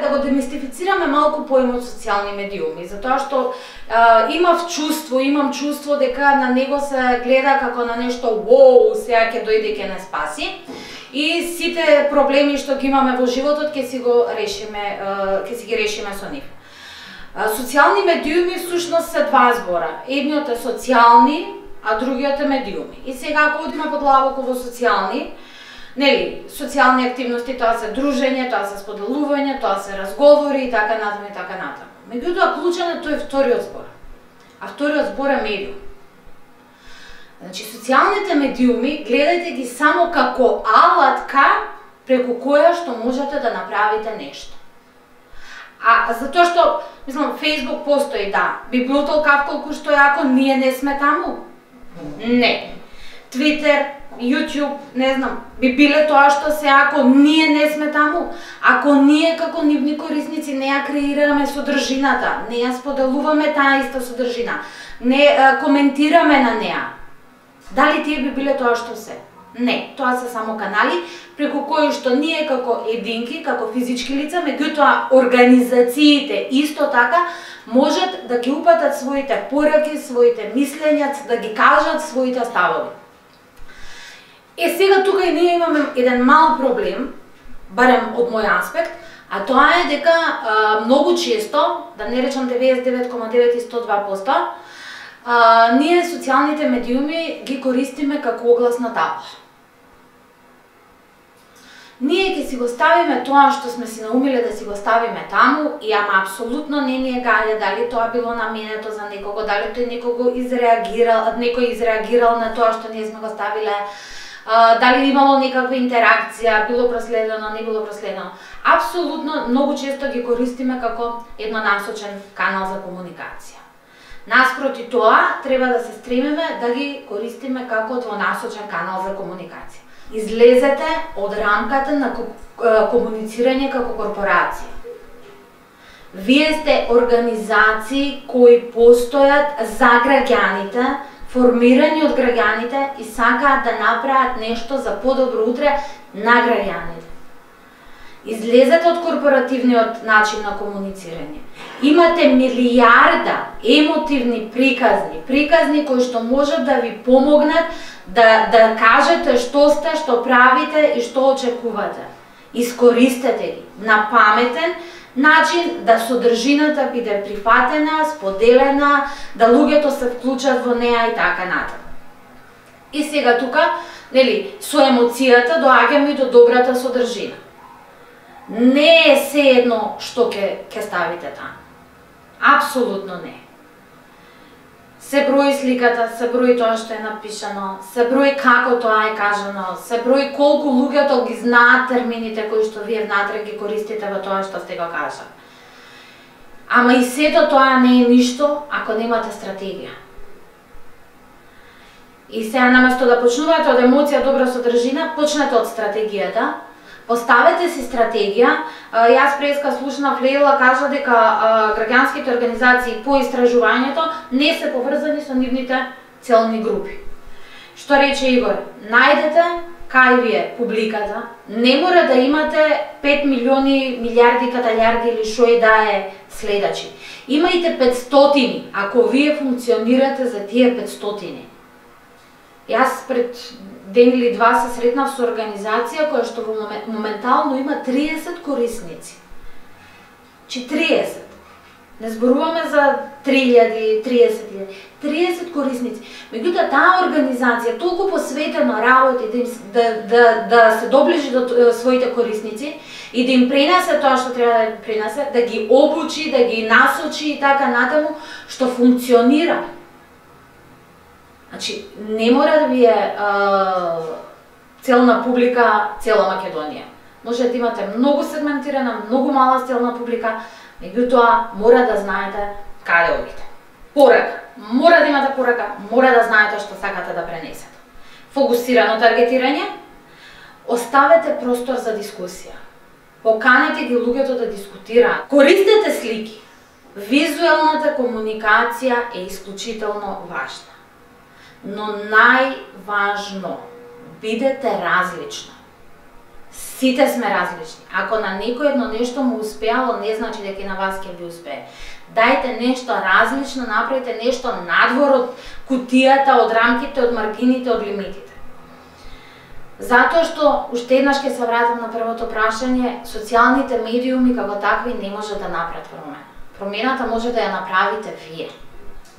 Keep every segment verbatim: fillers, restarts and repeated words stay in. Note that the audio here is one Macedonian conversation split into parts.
да го демистифицираме малку поимот социјални медиуми, затоа што а, имав чувство, имам чувство дека на него се гледа како на нешто воу, сега ќе дојде ќе не спаси. И сите проблеми што ги имаме во животот ќе си го решиме, ќе си ги решиме со нив. Социјални медиуми всушност се два збора. Едниот е социјални, а другиот е медиуми. И сега ако одиме подлабоко во социјални, нели, социјални активности, тоа се дружење, тоа се споделување, тоа се разговори и така натаму и така натаму. Меѓутоа клучен е тој вториот збор. А вториот збор е медиум. Значи, социјалните медиуми гледајте ги само како алатка преку која што можете да направите нешто. А затоа што, мислам, Facebook постои, да. Би било толку колку што јако ние не сме таму? Не. Twitter, YouTube, не знам, би биле тоа што се ако ние не сме таму, ако ние како нивни корисници не ја креираме содржината, не ја споделуваме таа иста содржина, не а, коментираме на неа, дали тие би биле тоа што се? Не, тоа се само канали преку кои што ние како единки, како физички лица, меѓутоа организациите исто така можат да ги упатат своите пораки, своите мислења, да ги кажат своите ставови. Е, сега тука и ние имаме еден мал проблем, барем од мој аспект, а тоа е дека а, многу често, да не речам деветдесет и девет целу девет и сто два проценти, а, ние социјалните медиуми ги користиме како огласна табла. Ние ќе си го ставиме тоа што сме си наумиле да си го ставиме таму и ама апсолутно не ни е гајле дали тоа било наменето за некого, дали тој некого изреагирал, некој изреагирал на тоа што ние сме го ставиле, Uh, дали имало некаква интеракција, било проследено, не било проследено. Апсолутно, многу често ги користиме како еднонасочен канал за комуникација. Наспроти тоа, треба да се стремиме да ги користиме како двонасочен канал за комуникација. Излезете од рамката на комуницирање како корпорација. Вие сте организации кои постојат за граѓаните, формирани од граѓаните и сакаат да направат нешто за подобро утре на граѓаните. Излезете од корпоративниот начин на комуницирање. Имате милијарда емотивни приказни, приказни кои што можат да ви помогнат да, да кажете што сте, што правите и што очекувате. Искористете ги на паметен начин да содржината биде прифатена, споделена, да луѓето се вклучат во неа и така натаму. И сега тука, нели, со емоцијата доаѓаме до добрата содржина. Не е се едно што ќе ќе ставите таму. Апсолутно не. Се брои сликата, се брои тоа што е напишано, се брои како тоа е кажано, се брои колку луѓето ги знаат термините кои што вие внатре ги користите во тоа што сте го кажали. Ама и сето тоа не е ништо ако немате стратегија. И сега наместо да почнувате од емоција добра содржина, почнете од стратегијата. Поставете си стратегија. Јас преска слушнав Лейла кажа дека граѓанските организации по истражувањето не се поврзани со нивните целни групи. Што рече Игор? Најдете кај ви е публиката. Не мора да имате пет милиони, милиарди, каталјарди или шо и да е следачи. Имајте петстотини, ако вие функционирате за тие петстотини. Јас пред ден или два се сретнав со организација која што во моментално има триесет корисници. Чи триесет. Не зборуваме за три илјади, триесет илјади. триесет корисници. Меѓутоа таа организација толку посветено работи да, им, да, да, да се доближи до своите корисници и да им пренесе тоа што треба да им пренесе, да ги обучи, да ги насочи и така натаму, што функционира. Значи, не мора да ви е а, целна публика цела Македонија. Може да имате многу сегментирана, многу мала целна публика, меѓутоа мора да знаете каде одите. Порака. Мора да имате порака, мора да знаете што сакате да пренесете. Фокусирано таргетирање. Оставете простор за дискусија. Поканете ги луѓето да дискутираат. Користете слики. Визуелната комуникација е исклучително важна. Но најважно, бидете различна. Сите сме различни. Ако на некој едно нешто му успеало, не значи дека и на вас ќе ви успее. Дајте нешто различно, направите нешто надвор од кутијата, од рамките, од маргините, од лимитите. Затоа што, уште еднаш ќе се вратам на првото прашање, социјалните медиуми како такви не може да направат промена. Промената може да ја направите вие,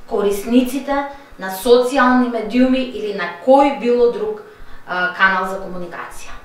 корисниците на социјални медиуми или на кој било друг а, канал за комуникација.